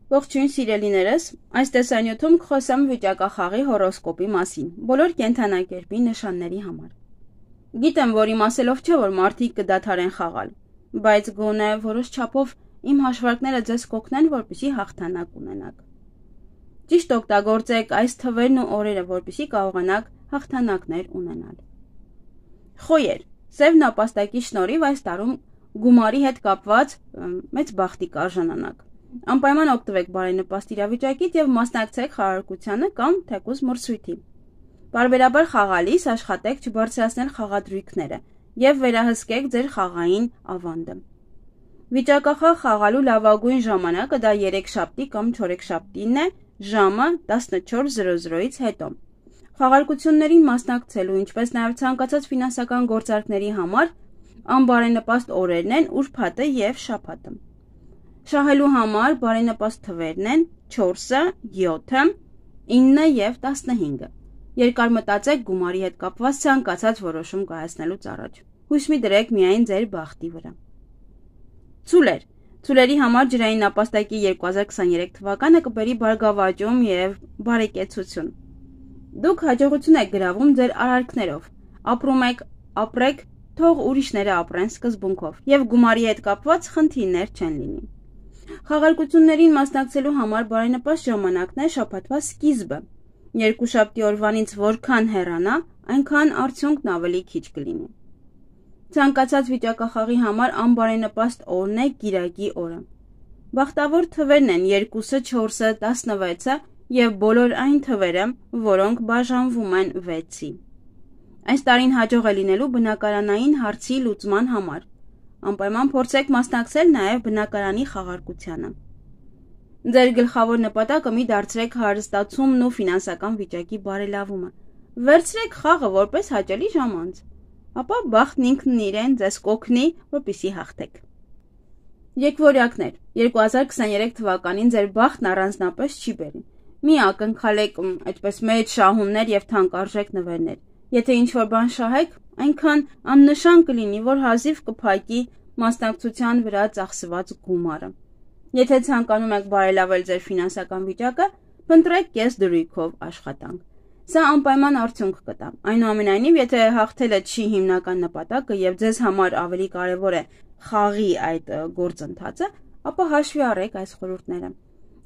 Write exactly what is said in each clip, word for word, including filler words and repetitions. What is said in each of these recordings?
Ողջույն սիրելիներս, այս տեսանյութում կխոսեմ վիճակախաղի հորոսկոպի մասին, բոլոր կենդանակերպի նշանների համար։ Գիտեմ, որ իմասելով չէ, որ մարդիկ կդադարեն խաղալ, բայց գոնե որոշ չափով իմ հաշվարկները ձեզ կօգնեն, որպեսզի հաղթանակ ունենաք։ Ճիշտ օգտագործեք այս թվերն ու օրերը, որպեսզի կարողանաք հաղթանակներ ունենալ։ Խոյեր, սև նապաստակի շնորհիվ այս տարում գումարի հետ կապված մեծ բախտի կարժանանաք։ Անպայման օգտվեք բարենպաստ իրավիճակից եւ մասնակցեք խաղարկությանը կամ թեկուզ մրցույթի։ Բարբերաբար խաղալիս աշխատեք չբարձրացնել խաղադրույքները եւ վերահսկեք ձեր խաղային ավանդը։ Վիճակախաղ խաղալու լավագույն ժամանակը դա երեքշաբթի կամ չորեքշաբթին է, ժամը տասնչորս զրո զրոից հետո։ Խաղարկություններին մասնակցելու, ինչպես նաեւ ցանկացած ֆինանսական գործարքների համար անբարենպաստ օրերն են ուրբաթը եւ շաբաթը։ Շահելու համար բարենպաստ թվերն են չորսը, յոթը, ինը եւ տասնհինգը։ Երկար մտածեք գումարի հետ կապված ցանկացած որոշում կայացնելուց առաջ։ Հույս մի դրեք միայն ձեր բախտի վրա։ Ցուլեր, ցուլերի համար ջրային նապաստակի երկու հազար քսաներեք թվականը կբերի բարգավաճում եւ բարեկեցություն։ Դուք հաջողություն եք գրավում ձեր արարքներով։ Ապրում եք, ապրեք, թող ուրիշները ապրեն սկզբունքով եւ գումարի հետ կապված խնդիրներ չեն լինի։ Խաղարկություններին մասնակցելու համար բարենպաստ ժամանակն է շաբաթվա սկիզբը։ Երկուշաբթի օրվանից որքան հեռանա, այնքան արդյունքն ավելի քիչ կլինի։ Ցանկացած վիճակախաղի համար անբարենպաստ օրն է կիրակի օրը։ Բախտավոր թվերն են երկուսը, չորսը, տասնվեցը եւ բոլոր այն թվերը, որոնք բաժանվում են վեցի։ Այս տարին հաջող է լինելու բնակարանային հարցի լուծման համար։ Անպայման փորձեք մասնակցել նաև բնակարանի խաղարկությանը։ Ձեր գլխավոր նպատակը մի դարձրեք հարստացումն ու ֆինանսական վիճակի բարելավումը։ Վերցրեք խաղը որպես հաճելի ժամանց, ապա բախտն ինքն իրեն ձեզ կօգնի, որպեսզի հաղթեք։ Եկվորյակներ, երկու հազար քսաներեք թվականին ձեր բախտն առանձնապես չի բերի։ Մի ակնքալեք այդպես մեծ շահումներ եւ թանկարժեք նվերներ։ Եթե ինչ-որ բան շահեք, այնքան աննշան կլինի, որ հազիվ կփակի մասնակցության վրա ծախսված գումարը։ Եթե ցանկանում եք բարելավել ձեր ֆինանսական վիճակը, փնտրեք կես դրույքով աշխատանք։ Սա անպայման արդյունք կտա։ Այնուամենայնիվ, եթե հաղթելը չի հիմնական նպատակը եւ ձեզ համար ավելի կարեւոր է խաղի այդ գործընթացը, ապա հաշվի առեք այս խորհուրդները։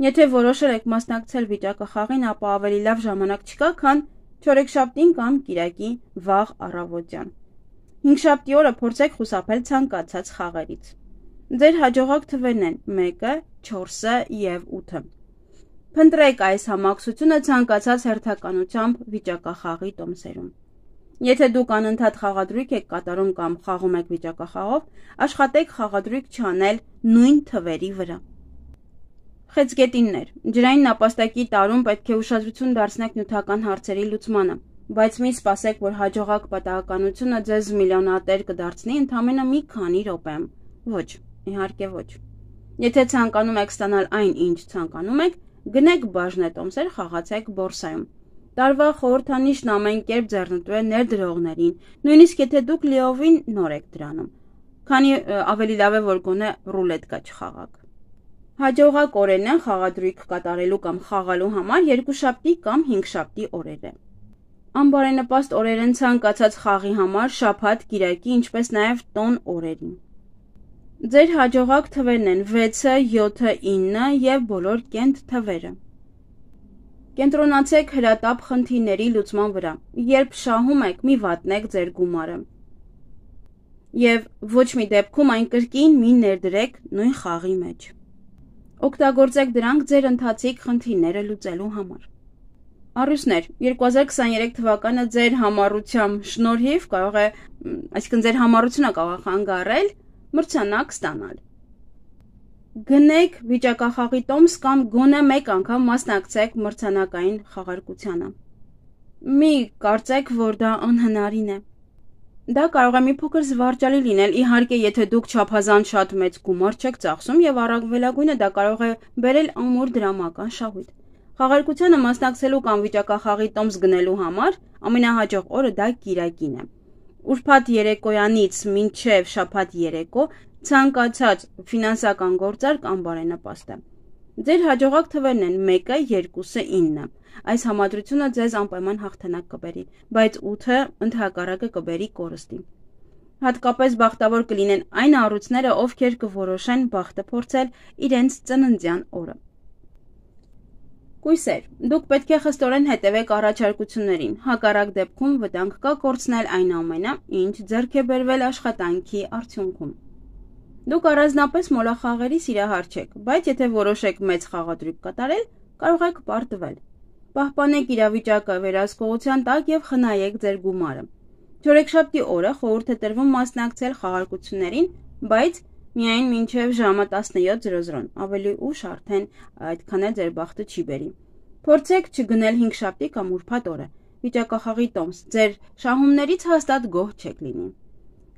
Եթե որոշել եք մասնակցել վիճակախաղին, ապա ավելի լավ ժամանակ չկա, քան չորեքշաբթին կամ կիրակի վաղ առավոտյան։ Հինգշաբթի օրը փորձեք խուսափել ցանկացած խաղերից։ Ձեր հաջողակ թվերն են մեկը, չորսը եւ ութը։ Փնտրեք այս համակցությունը ցանկացած հերթականությամբ վիճակախաղի տոմսերում։ Եթե դուք անընդհատ խաղադրույք եք կատարում կամ խաղում եք վիճակախաղով, աշխատեք խաղադրույք չանել նույն թվերի վրա։ Խեցգետիններ, ջրային նապաստակի տարում պետք է ուշադրություն դարձնեք նյութական հարցերի լուծմանը, բայց մի սպասեք, որ հաջողակ պատահականությունը ձեզ միլիոնատեր կդարձնի ընդամենը մի քանի րոպեում։ Ոչ, իհարկե ոչ։ Եթե ցանկանում եք ստանալ այն, ինչ ցանկանում եք, գնեք բաժնետոմսեր, խաղացեք բորսայում։ Տարվա խորհրդանիշն ամեն կերպ ձեռնտու է ներդրողներին, նույնիսկ եթե դուք լիովին նոր եք դրանում, քանի ավելի լավ է, որ գոնե ռուլետկա չխաղաք։ Հաջողակ օրերն են խաղադրույք կատարելու կամ խաղալու համար երկուշաբթի կամ հինգշաբթի օրերը։ Անբարենպաստ օրեր են ցանկացած խաղի համար շաբաթ, կիրակի, ինչպես նաև տոն օրերին։ Ձեր հաջողակ թվերն են վեցը, յոթը, ինը եւ բոլոր կենտ թվերը։ Կենտրոնացեք հրատապ խնդիրների լուծման վրա։ Երբ շահում եք, մի վատնեք ձեր գումարը։ Եվ ոչ մի դեպքում այն կրկին մի ներդրեք նույն խաղի մեջ։ Օգտագործեք դրանք ձեր ընթացիկ խնդիրները լուծելու համար։ Առուսներ, երկու հազար քսաներեք թվականը ձեր համառությամբ շնորհիվ կարող է, այսինքն ձեր համառությունը կարող է խանգարել մրցանակ ստանալ։ Գնեք վիճակախաղի տոմս կամ գոնե մեկ անգամ մասնակցեք մրցանակային խաղարկությանը։ Մի կարծեք, որ դա անհնարին է։ Դա կարող է մի փոքր զվարճալի լինել, իհարկե, եթե դուք չափազանց շատ մեծ գումար չեք ծախսում եւ առավելագույնը դա կարող է բերել ամուր դրամական շահույթ։ Խաղարկությանը մասնակցելու կամ վիճակախաղի տոմս գնելու համար ամենահաջող օրը դա կիրակին է։ Ուրբաթ երեկոյանից մինչև շաբաթ երեկո ցանկացած ֆինանսական գործարք անբարենպաստ է։ Ձեր հաջողակ թվերն են մեկը, երկուսը, ինը։ Այս համադրությունը ձեզ անպայման հաղթանակ կբերի, բայց ութը ընդհակառակը կբերի կորստի։ Հատկապես բախտավոր կլինեն այն առույցները, ովքեր կորոշեն բախտը փորձել իրենց ծննդյան օրը։ Կույսեր, դուք պետք է խստորեն հետևեք առաջարկություններին, հակառակ դեպքում վտանգ կա կորցնել այն ամենը, ինչ ձեռք է բերվել աշխատանքի արդյունքում։ Դուք առանձնապես մոլախաղերի սիրահար չեք, բայց եթե որոշեք մեծ խաղադրույք կատարել, կարող եք պարտվել։ Պահպանեք իրավիճակը վերահսկողության տակ եւ խնայեք ձեր գումարը։ Չորեքշաբթի օրը խորհուրդ է տրվում մասնակցել խաղարկություններին, բայց միայն մինչև ժամը տասնյոթ զրո զրո, ավելի ուշ արդեն այդքան էլ ձեր բախտը չի բերի։ Փորձեք չգնել հինգշաբթի կամ ուրբաթ օրը։ Վիճակախաղի տոմս, ձեր շահումներից հաստատ գոհ չեք լինի։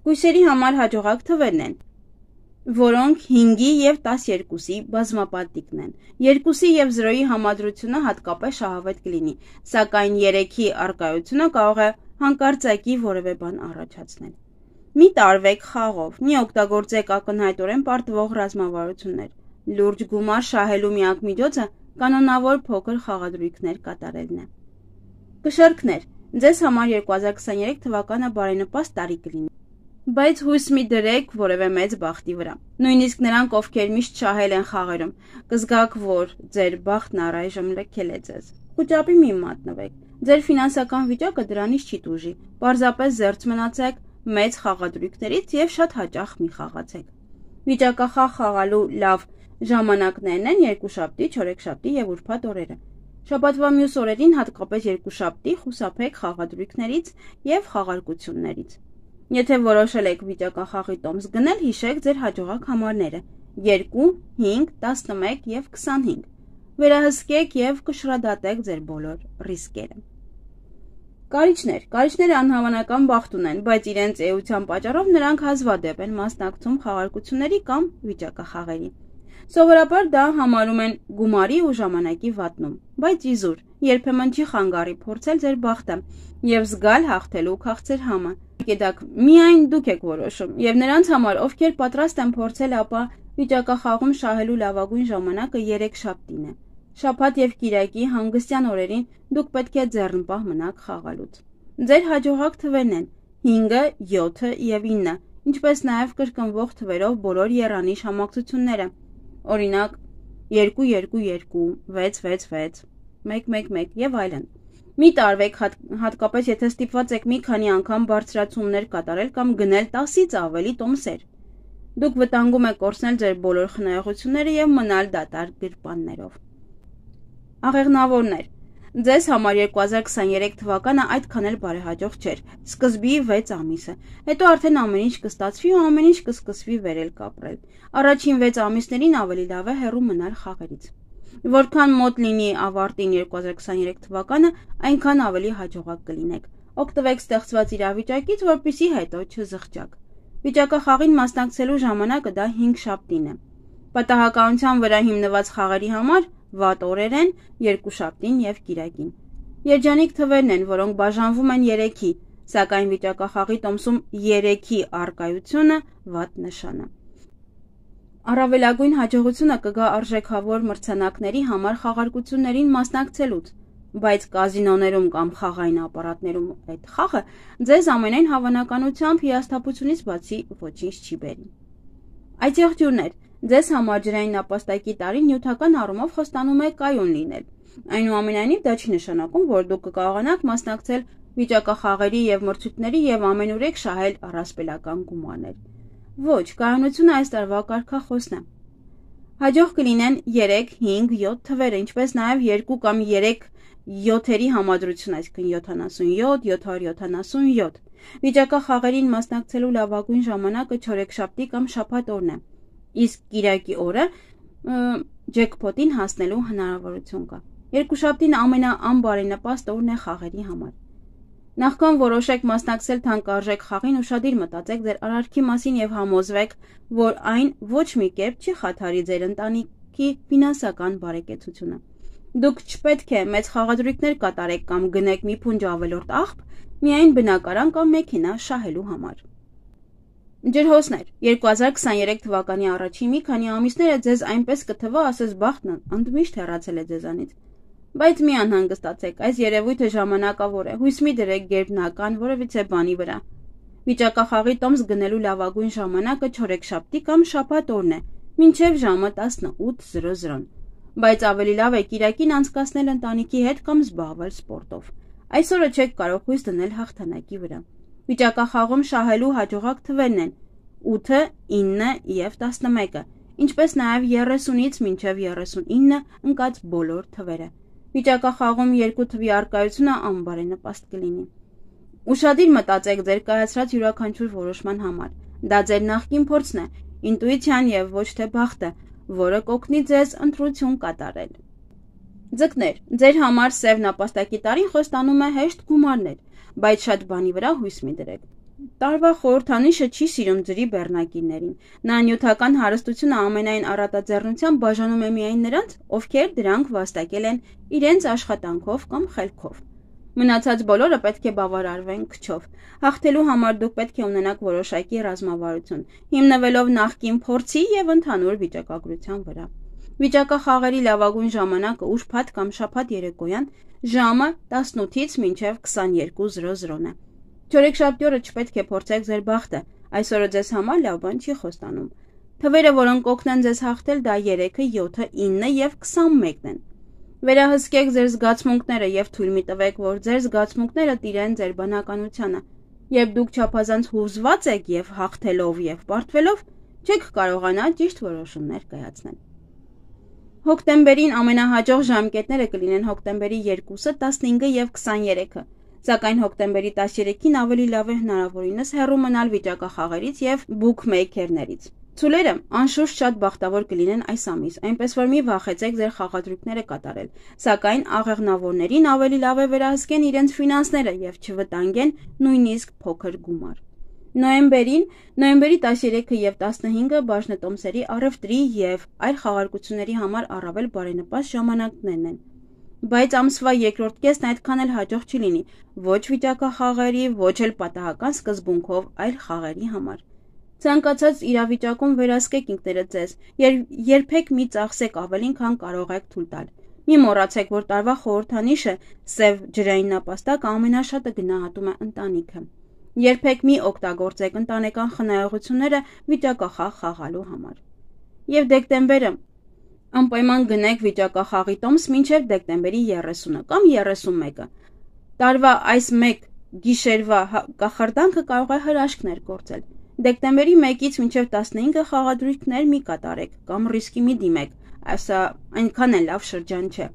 Կույսերի համար հաջողակ թվերն են, որոնք հինգի եւ տասներկուսի բազմապատիկն են։ երկուսի եւ զրոյի համադրությունը հատկապես շահավետ կլինի, սակայն երեքի առկայությունը կարող է հանկարծակի որևէ բան առաջացնել։ Մի տարվեք խաղով, մի օգտագործեք ակնհայտորեն պարտվող ռազմավարություններ։ Լուրջ գումար շահելու միակ միջոցը կանոնավոր փոքր խաղադրույքներ կատարելն է։ Կշեռքներ, ձեզ համար երկու հազար քսաներեք թվականը բարենպաստ տարի կլինի, բայց հույս մի դրեք որևէ մեծ բախտի վրա։ Նույնիսկ նրանք, ովքեր միշտ շահել են խաղերում, կզգաք, որ ձեր բախտն առայժմ լքել է ձեզ։ Խուճապի մի մատնվեք։ Ձեր ֆինանսական վիճակը դրանից չի տուժի։ Պարզապես զերծ մնացեք մեծ խաղադրույքներից եւ շատ հաճախ մի խաղացեք։ Վիճակախաղ խաղալու լավ ժամանակներն են երկուշաբթի, չորեքշաբթի եւ ուրբաթ օրերը։ Շաբաթվա մյուս օրերին, հատկապես երկուշաբթի, խուսափեք խաղադրույքներից եւ խաղարկություններից։ Եթե որոշել եք վիճակախաղի տոմս գնել, հիշեք ձեր հաջողակ համարները՝ երկու, հինգ, տասնմեկ եւ քսանհինգ։ Վերահսկեք եւ կշռադատեք ձեր բոլոր ռիսկերը։ Կարիճներ, կարիճները անհավանական բախտ ունեն, բայց իրենց էության պատճառով նրանք հազվադեպ են մասնակցում խաղարկությունների կամ վիճակախաղերի։ Սովորաբար դա համարում են գումարի ու ժամանակի վատնում, բայց իզուր, երբեմն չի խանգարի փորձել ձեր բախտը եւ զգալ հաղթելու քաղցր համը։ Գիտեք, միայն դուք եք որոշում, եւ նրանց համար, ովքեր պատրաստ են փորձել, ապա վիճակախաղում շահելու լավագույն ժամանակը երեքշաբթին է։ Շաբաթ եւ կիրակի հանգստյան օրերին դուք պետք է ձեռնպահ մնաք խաղալուց։ Ձեր հաջողակ թվերն են հինգը, յոթը եւ ինը, ինչպես նաեւ կրկնվող թվերով բոլոր եռանիշ համակցությունները։ Օրինակ երկու երկու երկու, վեց վեց վեց, մեկ մեկ մեկ եւ այլն։ Մի տարվեք հատ, հատկապես եթե ստիպված եք մի քանի անգամ բարձրացումներ կատարել կամ գնել տասից ավելի տոմսեր։ Դուք վտանգում եք կորցնել ձեր բոլոր խնայողությունները եւ մնալ դատարկ գրպաններով։ Աղեղնավորներ, ձեզ համար երկու հազար քսաներեք թվականը այդքան էլ բարեհաջող չէր։ Սկզբի վեց ամիսը, հետո արդեն ամեն ինչ կստացվի ու ամեն ինչ կսկսվի վերել կապրել։ Առաջին վեց ամիսներին ավելի լավ է հեռու մնալ խաղերից։ Որքան մոտ լինի ավարտին երկու հազար քսաներեք թվականը, այնքան ավելի հաջողակ կլինեք։ Օգտվեք ստեղծված իրավիճակից, որպեսզի հետո չզղջաք։ Վիճակախաղին մասնակցելու ժամանակը դա հինգշաբթին է։ Պատահականության վրա հիմնված խաղերի համար վատ օրեր են երկուշաբթին եւ կիրակին։ Երջանիկ թվերն են, որոնք բաժանվում են երեքի, սակայն վիճակախաղի տոմսում երեքի առկայությունը վատ նշան է։ Առավելագույն հաջողությունը կգա արժեքավոր մրցանակների համար խաղարկություններին մասնակցելուց, բայց կազինոներում կամ խաղային ապարատներում այդ խաղը ձեզ ամենայն հավանականությամբ հիասթափությունից բացի ոչինչ չի բերի։ Այդ եղջյուրներ, ձեզ համար ջրային նապաստակի տարին նյութական առումով խոստանում է կայուն լինել։ Այնուամենայնիվ դա չի նշանակում, որ դուք կկարողանաք մասնակցել վիճակախաղերի եւ մրցույթների եւ ամենուրեք շահել առասպելական գումարներ։ Ոչ, կայունությունը այս տարվա կարգախոսն է։ Հաջող կլինեն երեք, հինգ, յոթ թվերը, ինչպես նաեւ երկու կամ երեք յոթերի համադրություն, այսինքն յոթանասունյոթ, յոթ հարյուր յոթանասունյոթ։ Վիճակախաղերին մասնակցելու լավագույն ժամանակը չորեքշաբթի կամ շաբաթ օրն է, իսկ կիրակի օրը ջեքփոթին հասնելու հնարավորություն կա։ Երկուշաբթին ամենաանբարենպաստ օրն է խաղերի համար։ Նախքան որոշեք մասնակցել թանկարժեք խաղին, ուշադիր մտածեք ձեր արարքի մասին եւ համոզվեք, որ այն ոչ մի կերպ չի խաթարի ձեր ընտանիքի ֆինանսական բարեկեցությունը։ Դուք չպետք է մեծ խաղադրույքներ կատարեք կամ գնեք մի փունջ ավելորդ աղբ, միայն բնակարան կամ մեքենա շահելու համար։ Ջրհոսներ, երկու հազար քսաներեք թվականի առաջին մի քանի ամիսները ձեզ այնպես կթվա, ասես բախտն ընդմիշտ հեռացել է ձեզանից։ Բայց մի անհանգստացեք, այս երևույթը ժամանակավոր է, հույս մի դրեք գերբնական որևիցե բանի վրա։ Վիճակախաղի տոմս գնելու լավագույն ժամանակը չորեքշաբթի կամ շաբաթ օրն է, մինչև ժամը տասնութ զրո զրոն։ Բայց ավելի լավ է կիրակին անցկացնել ընտանիքի հետ կամ զբաղվել սպորտով։ Այսօրը չեք կարող հույս դնել հաղթանակի վրա։ Վիճակախաղում շահելու հաջողակ թվերն են ութը, ինը և տասնմեկը, ինչպես նաև երեսունից մինչև երեսունինը ընկած բոլոր թվերը։ Վիճակախաղում երկու թվի առկայությունը անբարենպաստ կլինի։ Ուշադիր մտածեք ձեր կայացրած յուրաքանչյուր որոշման համար։ Դա ձեր նախկին փորձն է, ինտուիցիան և ոչ թե բախտը, որը կօգնի ձեզ ընտրություն կատարել։ Ձկներ, ձեր համար սև նապաստակի տարին խոստանում է հեշտ գումարներ, բայց շատ բանի վրա հույս մի դրեք։ Տարվա խորհրդանիշը չի սիրում ձրի բեռնակիներին։ Նա նյութական հարստությունը ամենայն առատաձեռնությամբ բաժանում է միայն նրանց, ովքեր դրանք վաստակել են իրենց աշխատանքով կամ խելքով։ Մնացած բոլորը պետք է բավարարվեն քչով։ Հաղթելու համար դուք պետք է ունենաք որոշակի ռազմավարություն, հիմնվելով նախկին փորձի և ընդհանուր վիճակագրության վրա։ Վիճակախաղերի լավագույն ժամանակը ուրբաթ կամ շաբաթ երեկոյան ժամը տասնութից մինչև քսաներկու զրո զրոն է։ Չորեքշաբթի օրը չպետք է փորձեք ձեր բախտը, այսօրը ձեզ համար լավ բան չի խոստանում։ Թվերը, որոնք կօգնեն ձեզ հաղթել, դա երեքը, յոթը, ինը և քսանմեկն են։ Վերահսկեք ձեր զգացմունքները և թույլ մի տվեք, որ ձեր զգացմունքները տիրեն ձեր բանականությանը։ Երբ դուք չափազանց հուզված եք և հաղթելով և պարտվելով, չեք կարողանա ճիշտ որոշումներ կայացնել։ Հոկտեմբերին ամենահաջող ժամկետները կլինեն հոկտեմբերի երկուսը, տասնհինգը և քսաներեքը, սակայն հոկտեմբերի տասներեքին ավելի լավ է հնարավորինս հեռու մնալ վիճակախաղերից և բուքմեյքերներից։ Ցուլերը անշուշտ շատ բախտավոր կլինեն այս ամիս, այնպես որ մի վախեցեք ձեր խաղադրույքները կատարել, սակայն աղեղնավորներին ավելի լավ է վերահսկեն իրենց ֆինանսները և չվտանգեն նույնիսկ փոքր գումար։ Նոյեմբերին, նոյեմբերի տասներեքը և տասնհինգը բաժնետոմսերի, առևտրի և այլ խաղարկությունների համար առավել բարենպաստ ժամանակներն են։ Բայց ամսվա երկրորդ կեսն այդքան էլ հաջող չի լինի ոչ վիճակախաղերի, ոչ էլ պատահական սկզբունքով այլ խաղերի համար։ Ցանկացած իրավիճակում վերահսկեք ինքներդ ձեզ, երբեք մի ծախսեք ավելին, քան կարող եք թույլ տալ։ Մի մոռացեք, որ տարվա խորհրդանիշը սև ջրային նապաստակը ամենաշատը գնահատում է ընտանիքը։ Երբեք մի օգտագործեք ընտանեկան խնայողությունները վիճակախաղ խաղալու համար։ Եվ դեկտեմբերը անպայման գնեք վիճակախաղի տոմս մինչև դեկտեմբերի երեսունը կամ երեսունմեկը։ Տարվա այս մեկ գիշերվա կախարդանքը կարող է հրաշքներ գործել։ Դեկտեմբերի մեկից մինչև տասնհինգը խաղադրույքներ մի կատարեք կամ ռիսկի մի դիմեք, այսա այնքան էլ լավ շրջան չէ։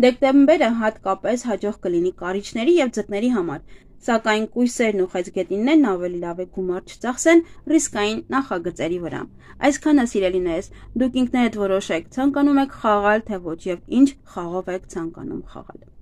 Դեկտեմբերը հատկապես հաջող կլինի կարիճների և ձկների համար, սակայն կույսերն ու խեցգետիններն ավելի լավ է գումար չծախսեն ռիսկային նախագծերի վրա։ Այսքանը սիրելիներս, դուք ինքներդ որոշեք, ցանկանում եք խաղալ թե ոչ և ինչ խաղով եք ցանկանում խաղալ։